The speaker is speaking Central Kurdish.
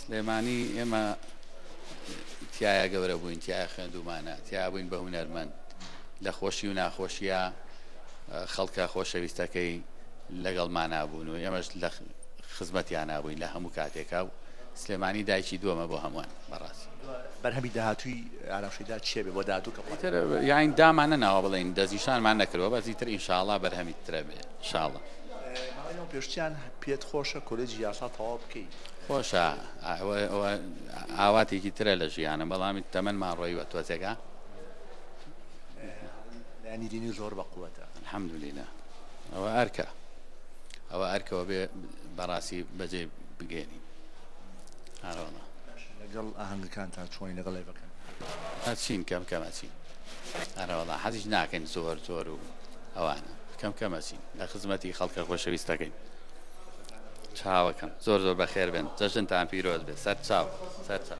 سلێمانی ئێمە تیایا گەورە بووین، تیایا خوێندوومانە، تیایا بووین بە هونەرمەند. لە خۆشی و ناخۆشییا خەڵکە خۆشەویستەکەی لەگەڵمانا بوون و ئێمەش لە خزمەتیانا بووین لە هەموو کاتێکا و سلێمانی دایکی دووەمە بۆ هەمووان بەڕاستی. بەرهەمی داهاتووی ئارام شەیدا چیە بێ بۆ داهاتوو کە ئیتر یاین دامان نەناوە بڵێین دەستنیشانمان نەکردووە بەس ئیتر ئینشاڵا بەرهەمی ترە بێ ئینشاڵا. ماوەی لەمەو پێشتیان پێت خۆشە کۆلێجی یاسا تەواو بکەی؟ خۆشە ئەوە ئاواتێکی ترە لە ژیانم بەڵام تەمەنمان ڕۆیوە تۆزێکە. لایەنی دینی زۆر بە قوەتە. الحمدللە ئەوە ئەرکە ئەوە ئەرکەوە بێ بەڕاستی بەجێ بگەێنین ئارەوەڵا. لەگەڵ ئاهەنگەکانتان چۆنی لەگەڵ لایڤەکان؟ ئەچین کەم کەم ئەچین ئارەوەڵا حەزیش ناکەین زۆر زۆر و ئەوانە کەم کەم ئەچین لە خزمەتی خەڵکە خۆشەویستەکەین. چاوەکەم زۆر زۆر بەخێر بێن جەژنتان پیرۆز بێ سەر چاو سەر چاو.